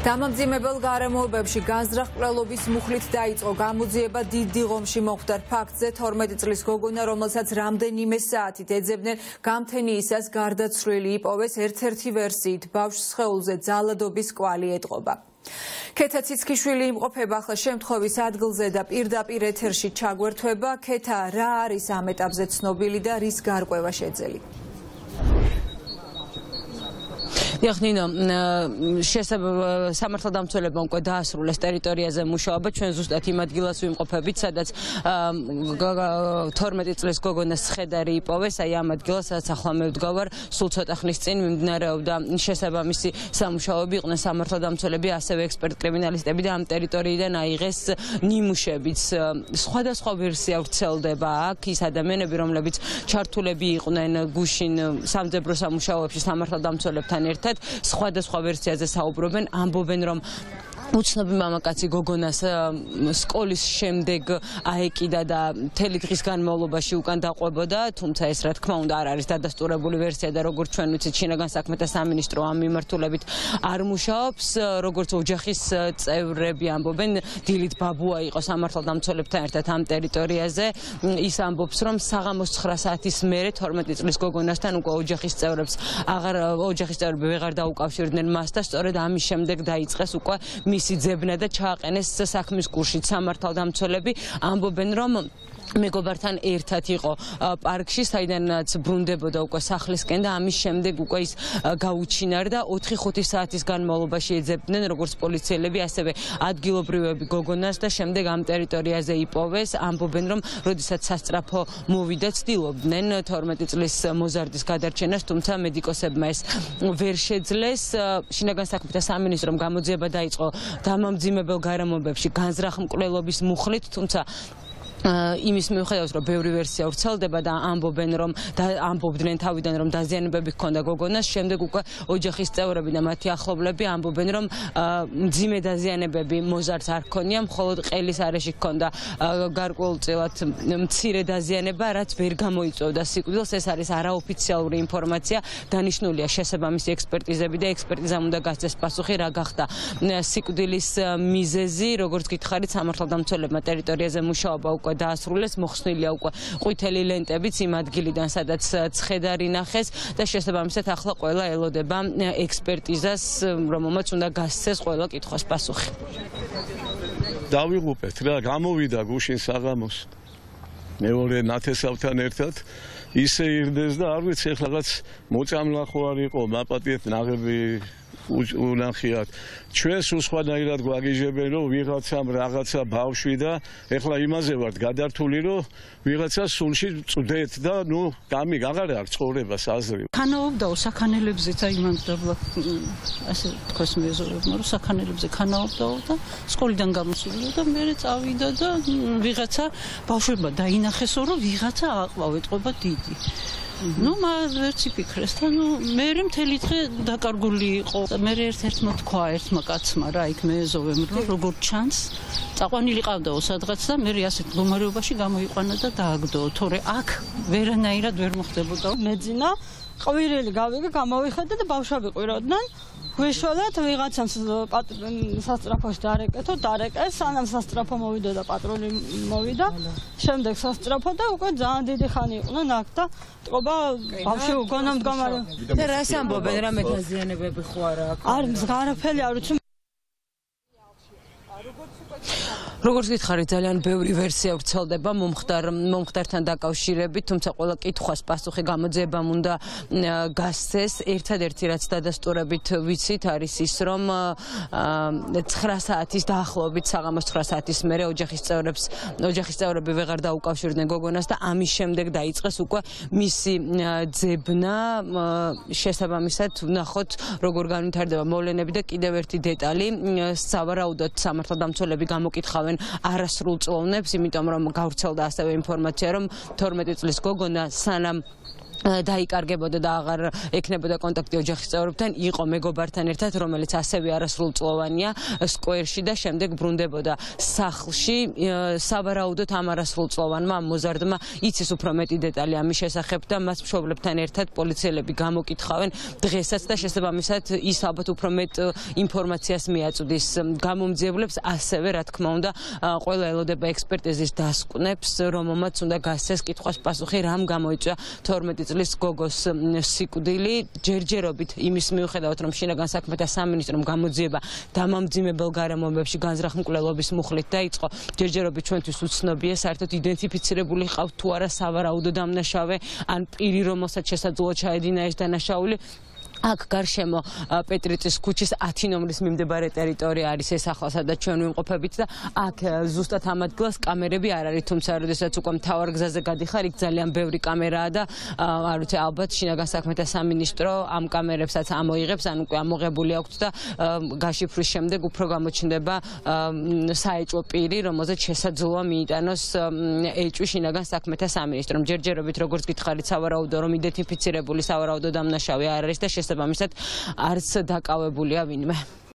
დამამძიმებელ გარემოებებში განზრახ-მკვლელობის მუხლით დაიწყო გამოძიება დიდ დიღომში მომხდარ ფაქტზე 12 წლის გოგონა, რომელსაც რამდენიმე საათით ეძებდნენ გამთენიისას გარდაცვლილი იპოვეს ერთ-ერთი ვერსიით ბავშვს სხეულზე ძალადობის კვალი ეტყობა. ქეთა ციცქიშვილი იმყოფება ახლა შემთხვევის ადგილზე და პირდაპირ ეთერში ჩაგვერთვება. ქეთა, რა არის ამ ეტაპზე ცნობილი და რის გარკვევა შეძელი? ნინო, სამართალდამცველებმა უკვე დაასრულეს ტერიტორიაზე მუშაობა, ჩვენ ზუსტად იმ ადგილას ვიმყოფებით, სადაც 12 წლის გოგონას სხედარი იპოვეს, აი ამ ადგილას, სადაც ახლა მე ვდგავარ, სულ ცოტა ხნის წინ მიმდინარეობდა შესაბამისი სამუშაოები, იყვნენ სამართალდამცველები, ასევე ექსპერტ-კრიმინალისტები და ამ ტერიტორიიდან აიღეს ნიმუშებიც. სხვადასხვა ვერსია ვრცელდება აქ, ის ადამიანები, რომლებიც ჩართულები იყვნენ გუშინ სამძებრო სამუშაოებში სამართალდამცველებთან ერთად სხვადასხვა ვერსიაზე საუბრობენ, ამბობენ, რომ უცნობი მამაკაცი გოგონას სკოლის შემდეგ აეკიდა და მთელი დღის განმავლობაში უკან დაყვებოდა, თუმცა ეს რა თქმა უნდა არ არის დადასტურებული ვერსია და როგორც ჩვენ ვიცით, შინაგან საქმეთა სამინისტრო ამ მიმართულებით არ მუშაობს, როგორც ოჯახის წევრები ამბობენ, დილით ბაბუა იყო სამართალდამცველებთან ერთად ამ ტერიტორიაზე, ის ამბობს, რომ საღამოს 9 საათის მერე 12 წლის გოგონასთან უკვე ოჯახის წევრები ვეღარ დაუკავშირდნენ მას და სწორედ ამის შემდეგ დაიწყეს უკვე მისი ძებნა და ჩააყენეს საქმის გულშიც. სამართალდამცველები ამბობენ, რომ მეგობართან ერთად იყო პარკში, საიდანაც ბრუნდებოდა უკვე სახლისკენ და ამის შემდეგ უკვე ის გაუჩინარდა 4-5 საათის განმავლობაში ეძებდნენ როგორც პოლიციელები, ასევე ადგილობრივები გოგონას და შემდეგ ამ ტერიტორიაზე იპოვეს. ამბობენ, რომ როდესაც სასწრაფო მოვიდა, ცდილობდნენ 12 წლის მოზარდის გადარჩენას, თუმცა მედიკოსებმა ეს ვერ შეძლეს. შინაგან საქმეთა სამინისტრომ გამოძიება დაიწყო დამამძიმებელ გარემოებებში განზრახ-მკვლელობის მუხლით, თუმცა იმის მიუხედავად, რომ ბევრი ვერსია ვრცელდება და ამბობდნენ თავიდან, რომ დაზიანებები ჰქონდა გოგონას, შემდეგ უკვე ოჯახის წევრები და მათი ახლობლები ამბობენ, რომ მძიმე დაზიანებები მოზარდს არ ჰქონია, მხოლოდ ყელის არეში ჰქონდა გარკვეულწილად მცირე დაზიანება, რაც ვერ გამოიწვევდა სიკვდილს. ეს არის არაოფიციალური ინფორმაცია, დანიშნულია შესაბამისი ექსპერტიზები და ექსპერტიზამ უნდა გასცეს პასუხი, რა გახდა სიკვდილის მიზეზი. როგორც გითხარით, სამართალდამცველებმა ტერიტორიაზე მუშაობა უკვე დაასრულეს, მოხსნილია უკვე ყვითელი ლენტებიც იმ ადგილიდან, სადაც ცხედარი ნახეს და შესაბამისად ახლა ყველა ელოდება ექსპერტიზას, რომელმაც უნდა გასცეს ყველა კითხვას პასუხი. დავიღუპეთ რა, გამოვიდა გუშინ საღამოს მეორე ნათესავთან ერთად, ისე ირდეს და არ ვიცი ეხლა რაღაც მოწამლა ხო არ იყო, მაპატიეთ ნაღები უნახიათ. ჩვენ სულ სხვანაირად გვაგიჟებენ, რომ ვიღაცამ რაღაცა ბავშვი და ეხლა იმაზე ვართ გადართული, რომ ვიღაცა სულში წვდეთ და აღარ აქვს ცხოვრებას აზრი. ქანაობდაო საქანელებზეც აიმანძრებლა, ასე თქოს მეზობებმა, რომ საქანელებზე ქანაობდაო და სკოლიდან გამოსულიყო და მერე წავიდა და ვიღაცა ბავშვებმა დაინახესო, რომ ვიღაცა აყვავეთყობა დიდი. ვერც იფიქრეს და მერე მთელი დღე დაკარგული იყო. მერე ერთ-ერთმა თქვა ერთმა კაცმა რა იქ მეეზოვემ, რომ როგორ ჩანს წაყვანილი ყავდაო სადღაც და მერე ასეთ მდგომარეობაში გამოიყვანა და დააგდო, თორე აქ ვერანაირად ვერ მოხდებოდა. მეძინა ყვირილი გავიგე, გამოვიხედე და ბავშვები ყვიროდნენ. გვიშველეთ ვიღაცამ სასწრაფოში დარეკეს, სანამ სასწრაფო მოვიდა და პატრული მოვიდა, შემდეგ სასწრაფო და უკვე ძალიან დიდი ხანი იყვნენ აქ და ტყობა ბავშვი უგონა მდგომარე. და რას ამბობენ, რა დაზიანებები ხო არა აქ? არ არაფერი არ ვიცი. როგორც გითხარით, ძალიან ბევრი ვერსია ვრცელდება მომხდართან დაკავშირებით, თუმცა ყველა კითხვას პასუხი გამოძიებამ უნდა გასცეს. ერთადერთი რაც დადასტურებით ვიცით არის ის, რომ 9 საათის დაახლოებით, საღამოს 9 საათის მერე ოჯახის წევრები ვეღარ დაუკავშირდნენ გოგონას და ამის შემდეგ დაიწყეს უკვე მისი ძებნა. შესაბამისად ვნახოთ, როგორ განვითარდება მოვლენები და კიდევ ერთი დეტალი, სავარაუდოდ სამართალდამცველები გამოკითხავენ არასრულ წლოვნებს, იმიტომ რომ გავრცელდა ასევე ინფორმაცია, რომ 12 წლის გოგონა სანამ დაიკარგებოდა და აღარ ექნებოდა კონტაქტი ოჯახის წევრებთან, იყო მეგობართან ერთად, რომელიც ასევე არასრულწლოვანია სკვერში და შემდეგ ბრუნდებოდა სახლში. სავარაუდოდ ამ არასრულწლოვანმა მოზარდმა იცის უფრო მეტი დეტალი ამის შესახებ და მას მშობლებთან ერთად პოლიციელები გამოკითხავენ დღესაც და შესაბამისად ის ალბათ უფრო მეტ ინფორმაციას მიაწვდის გამომძიებლებს, ასევე რა თქმა უნდა ყველა ელოდება ექსპერტიზის დასკვნებს, რომელმაც უნდა გასცეს კითხვას პასუხი, რამ გამოიწვია 12 წლის გოგოს სიკვდილი. ჯერჯერობით იმის მიუხედავად, რომ შინაგან საქმეთა სამინისტრომ გამოძიება დამამძიმებელ გარემოებებში განზრახ-მკვლელობის მუხლით დაიწყო, ჯერჯერობით ჩვენთვის უცნობია, საერთოდ იდენტიფიცირებული ყავთ თუ არა სავარაუდო დამნაშავე ან პირი, რომელსაც შესაძლოა ჩაედინა ეს დანაშაული. აქ გარშემო პეტრიწის ქუჩის 10 ნომრის მიმდებარე ტერიტორია არის ეს ახლა, სადაც ჩვენ ვიმყოფებით და აქ ზუსტად ამ ადგილას კამერები არ არის, თუმცა როდესაც უკვე მთავარ გზაზე გადიხარ, იქ ძალიან ბევრი კამერაა და არ ვიცი, ალბათ შინაგან საქმეთა სამინისტრო ამ კამერებსაც ამოიღებს, ან უკვე ამოღებული აქვს და გაშიფვრის შემდეგ უფრო გამოჩნდება საეჭვო პირი, რომელზეც შესაძლოა მიიტანოს ეჭვი შინაგან საქმეთა სამინისტრომ. ჯერჯერობით როგორც გითხარით, სავარაუდო რომ იდენტიფიცირებული სავარაუდო დამნაშავე არ არის და შესაბამისად არც დაკავებულია ვინმე.